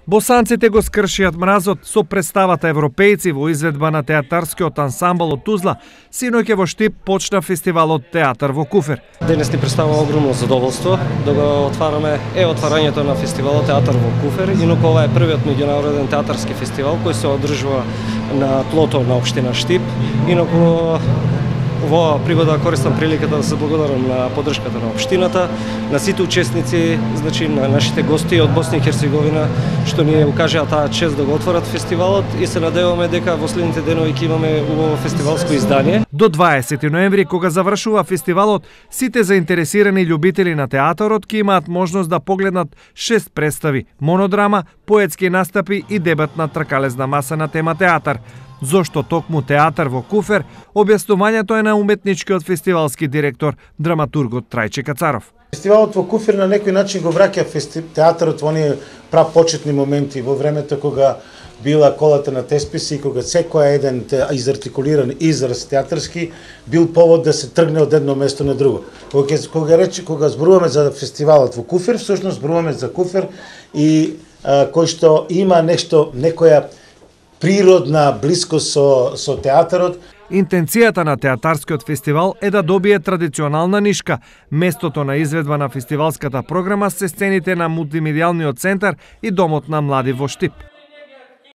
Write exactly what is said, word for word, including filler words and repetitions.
Босанците го скршиат мразот со представата Европејци во изведба на театарскиот ансамбл од Тузла. Синоќа во Штип почна фестивалот Театар во куфер. Денес ни представува огромно задоволство да го отвараме е отварањето на фестивалот Театар во куфер. Инаку ова е првиот меѓународен театарски фестивал кој се одржува на тлото на општина Штип. Инаку во пригода користам приликата да се благодарам на поддршката на општината, на сите учесници, значи на нашите гости од Босна и Херцеговина што ни укажаа таа чест да го отворат фестивалот и се надеваме дека во следните денови ќе имаме убаво фестивалско издание. До дваесети ноември, кога завршува фестивалот, сите заинтересирани љубители на театарот ќе имаат можност да погледнат шест представи, монодрама, поетски настапи и дебат на тркалезна маса на тема театар. Зошто токму Театар во куфер, објаснувањето е на уметничкиот фестивалски директор, драматургот Трајче Кацаров. Фестивалот во куфер на некој начин го враќа театарот во оние прапочетни моменти во времето кога била колата на тесписи и кога секој еден изартикулиран израз театарски бил повод да се тргне од едно место на друго. Кога кога рече кога зборуваме за фестивалот во куфер, всушност зборуваме за куфер и а, кој што има нешто некоја природна блискост со, со театарот. Интенцијата на театарскиот фестивал е да добие традиционална нишка. Местото на изведба на фестивалската програма се сцените на мултимедијалниот центар и домот на млади во Штип.